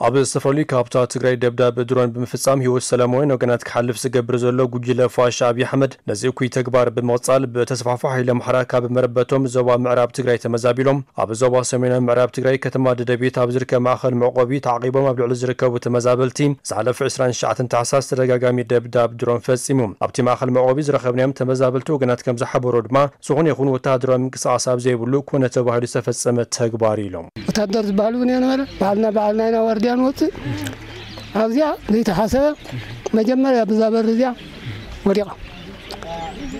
ኣብ ዝተፈላለዩ ከባብታት ትግራይ ደብዳብ ድሮን ብምፍጻም ህይወት ሰላማውያን ወገናት ክሓልፍ ዝገብር ዘሎ ጉጅለ ፋሽ ኣብይ ኣሕመድ፣ ነዚ እኩይ ተግባር ብምቕጻል ብተስፋሕፋሒ ሓይሊ ኣምሓራ ካብ መረበቶም ዞባ ምዕራብ ትግራይ ተመዛቢሎም ኣብ ዞባ ሰሜናዊ ምዕራብ ትግራይ ከተማ ደደቢት ኣብ ዝርከብ ማእኸል መዕቆቢ ተዓቒቦም ኣብ ልዕሊ ዝርከቡ ተመዛበልቲ ዝሓለፈ ዕስራን ትሽዓተን ታሕሳስ ተደጋጋሚ ደብዳብ ድሮን ፈጺሙ። ኣብቲ ማእኸል መዕቆቢ ዝረኸብናዮም ተመዛበልቲ ወገናት ከም ዝሓበሮ ድማ፣ ዝኾነ ይኹን ወተሃደራዊ ምንቅስቓስ ኣብ ዘይብሉ ኮነ ተባሂሉ ዝተፈጸመ ተግባር ኢሎም። ወታደር ዝበሃል እውን የነበረ። ባዕልና ባዕልና ኢና ዋርድያ ንወፅእ። ኣብዚኣ ዘይተሓሰበ መጀመርያ ብዛ በር እዚኣ ወዲቓ።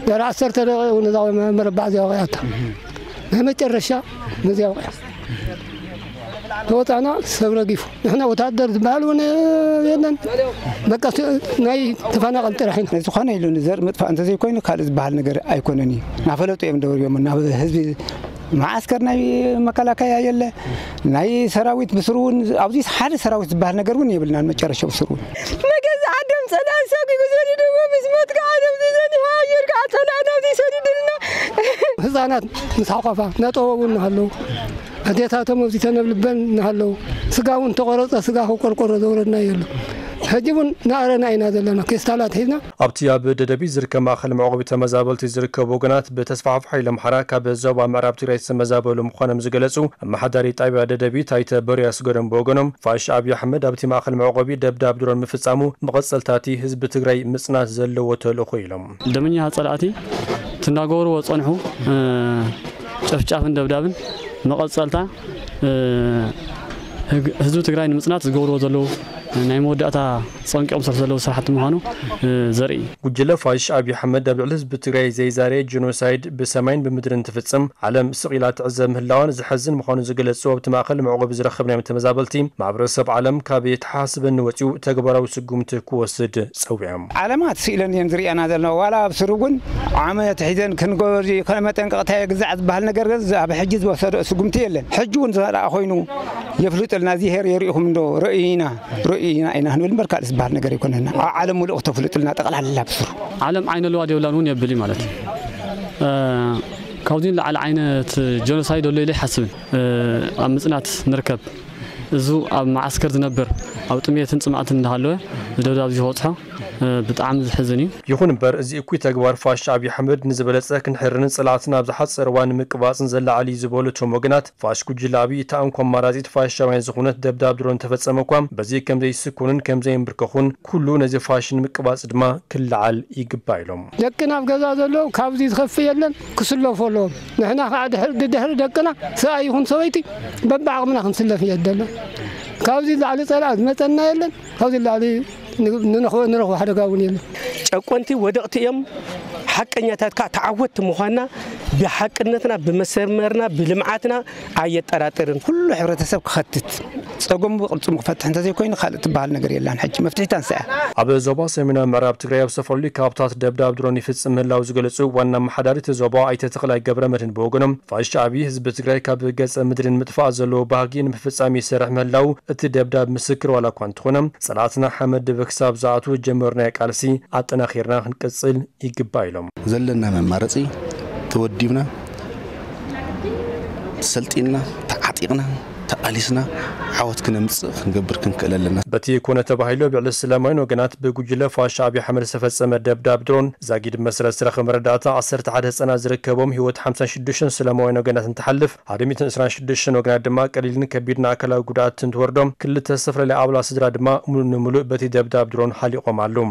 ድሕሪ ዓሰርተ ደቂቕ እውን እዛ መረባዕ እዚኣ ወቂዓታ። ናይ መጨረሻ ነዚኣ ወቂዓ። ተወፃና፣ ሰብ ረጊፉ። ንሕና ወታደር ዝበሃል እውን የለን። በቃ ስ-፣ ናይ ተፈናቐል ጥራሕ ኢና። ዝኾነ ኢሉ ንዘር ምጥፋእ እንተዘይኮይኑ ካልእ ዝበሃል ነገር ኣይኮነን እዩ። ናፈለጡ እዮም ደወርዮሞ ናብ ህዝቢ መዓስከር ናይ መከላከያ የለ፣ ናይ ሰራዊት ብስሩ እውን ኣብዚ ሓደ ሰራዊት ዝበሃል ነገር እውን የብልናን። መጨረሻ ብስሩ እውን መገዛ ዓዶም ጸላኢ ሰጒጉ ሰዲድዎ ምስ ሞት ከዓ ነብዚ ዘኒሃ ኣየር ከዓ ጸላኢ ነብዚ ሰዲድልና። ህፃናት ምስ ሓቋፋ እናጠወው እናሃለዉ፣ ኣዴታቶም ኣብዚ ተነብልበን እናሃለዉ፣ ስጋ እውን ተቆረፀ፣ ስጋ ከቆርቆሮ ዘውረድና የሎ። ሕጂ እውን እናኣረና ኢና ዘለና፣ ፌስታላት ሒዝና። ኣብቲ ኣብ ደደቢት ዝርከብ ማእኸል መዕቆቢ ተመዛበልቲ ዝርከቡ ወገናት፣ ብተስፋሕፋሒ ሓይሊ ኣምሓራ ካብ ዞባ ምዕራብ ትግራይ ዝተመዛበሉ ምዃኖም ዝገለጹ ኣመሓዳሪ ጣብያ ደደቢት ኣይተ በርያ ስገዶም ብወገኖም፣ ፋሽ ኣብይ ኣሕመድ ኣብቲ ማእኸል መዕቆቢ ደብዳብ ድሮን ምፍጻሙ መቐጸልታ እቲ ህዝቢ ትግራይ ምጽናት ዘለዎ ተልእኾ ኢሎም። ደመኛ ጸላእቲ ትናገርዎ ጸንሑ፣ እ፣ ጨፍጫፍን ደብዳብን መቐጸልታ፣ እ፣ ህግ-፣ ህዝቢ ትግራይ ንምጽናት ዝገብርዎ ዘለዉ ናይ መወዳእታ ጸንቂቖም ዝሰርሑ ዘለዉ ስራሕቲ ምዃኑ፣ እ፣ ዘርኢ እዩ። ጉጅለ ፋሽስት ኣብይ ኣሕመድ ኣብ ልዕሊ ህዝቢ ትግራይ ዘይዛረ ጄኖሳይድ ብሰማይን ብምድርን እንትፍጽም ዓለም ስቕ ኢላ ትዕዘብ ምህላዋን ዘሕዝን ምዃኑ ዝገለጹ ኣብቲ ማእከል መዕቆቢ ዝረኸብናዮም ተመዛበልቲ፣ ማሕበረሰብ ዓለም ካብ የተሓሳስበኒ ወጺኡ ተግባራዊ ስጉምቲ ክወስድ ጸዊዖም። ዓለማት ስኢለን እየን ዝርእያና ዘለዋ። ዋላ ኣብ ስሩ እውን ዓመት ሒዘን ክንጎ-፣ ከመጠንቀቕታ የግዛዕ ዝበሃል ነገር ግን ኣብ ሕጂ ዝወሰዶ ስጉምቲ የለን። ሕጂ እውን ዘረኣ ኮይኑ የፍልጥልና፣ እዚ ሄር የርእኹም እንዶ ርእይና፣ ርእይና ኢና ክንብል እምበር ካልእ ዝበሃል ነገር ኣይኮነና። ኣብ ዓለም ሙሉእ ክተፍልጥልና ጠቕላላ ብስሩ። ዓለም ዓይነ ኣለዋ ዶ የብላን እውን የብል እዩ ማለት እዩ። እ፣ ካብዚ ንላዕሊ ዓይነት ጀኖሳይድ ኣሎ ኢለ ኣይሓስብን። እ፣ ኣብ ምጽናት ንርከብ። እዙ ኣብ መዓስከር ዝነብር፣ ኣብ ጥሜትን ጽምኣትን እንዳሃለወ፣ እዚ ደብዳብ እዚ ክበጽሖ፣ እ፣ ብጣዕሚ ዝሕዝን እዩ። ይኹን እምበር፣ እዚ እኩይ ተግባር ፋሽስት ኣብይ ኣሕመድ ንዝበለጸ ክንሕርንን ጸላእትና ኣብ ዝሓጸረ እዋን ንምቅባጽን ዘላዓል እዩ ዝበሉ እቶም ወገናት፣ ፋሽስት ጉጅለ ኣብይ እታ እንኮ ኣማራጺት ፋሽስታውያን ዝኾነት ደብዳብ ድሮን እንተፈጸመ እኳ፣ በዚ ከም ዘይስኮኑን ከም ዘይንብርከኹን፣ ኩሉ ነዚ ፋሽስት ንምቅባጽ ድማ ክለዓል ይግባእ ኢሎም። ደቅና ኣብ ገዛ ዘለዉ ካብዚ ዝኸፍእ የለን፣ ክስለፉ ኣለዎም። ንሕና ከዓ ድሕሪ፣ ድድሕሪ ደቅና ሰብኣይ ይኹን ሰበይቲ በብዓቕምና ክንስለፍ እየ ደሎ። ካብዚ ላዕሊ ጸላእ ዝመጸና የለን፣ ካብዚ ላዕሊ ን-፣ ንረኽቦ፣ ንረኽቦ ሓደጋ እውን የለን። ጨቆንቲ ወደቕቲ እዮም፣ ሓቀኛታት ከዓ ተዓወትቲ ምዃንና ብሓቅነትና፣ ብመሰመርና፣ ብልምዓትና ኣየጠራጥርን። ኩሉ ሕብረተሰብ ክኸትት፣ ጸገሙ ብቕልጽሙ ክፈትሕ እንተዘይኮይኑ ካልእ ትበሃል ነገር የላን። ሕጂ መፍትሒት ኣንስኣ። ኣብ ዞባ ሰሜናዊ ምዕራብ ትግራይ ኣብ ዝተፈላለዩ ከባብታት ደብዳብ ድሮን ይፍጽም ምህላው ዝገለጹ ዋና ኣመሓዳሪ እቲ ዞባ ኣይተ ተኽላይ ገብረ መድህን ብወገኖም፣ ፋሽስት ኣብይ ህዝቢ ትግራይ ካብ ገጸ ምድሪ ንምጥፋእ ዘለዎ ባህጊ ንምፍጻም ይሰርሕ ምህላው እቲ ደብዳብ ምስክር ዋላ እኳ እንተኾነ፣ ጸላእትና ሓመድ ድበ ክሳብ ዝኣትዉ ዝጀመርናዮ ቃልሲ ኣጠናኺርና ክንቅጽል ይግባእ ኢሎም። ዘለና መማረጺ ተወዲብና፣ ሰልጢንና፣ ተዓጢቕና፣ ተቓሊስና ዓወት ክነምጽእ ክንገብር ክንክእል ኣለና። በቲ ኮነ ተባሂሉ ኣብ ልዕሊ ሰላማውያን ወገናት ብጉጅለ ፋሽስት ኣብይ ኣሕመድ ዝተፈጸመ ደብዳብ ድሮን ዛጊድ መስረት ዝረኸበ መረዳእታ ዓሰርተ ሓደ ህጻናት ዝርከቦም ህይወት ሓምሳ ሽዱሽተ ሰላማውያን ወገናት እንትሓልፍ፣ ሓደ ሚእትን ዕስራን ሽዱሽተ ወገናት ድማ ቀሊልን ከቢድን ኣካላዊ ጉድኣት እንትወርዶም፣ ክልተ ዝተፈላለያ ኣባላት ስድራ ድማ ሙሉእ ንሙሉእ በቲ ደብዳብ ድሮን ሃሊቖም ኣለዉ።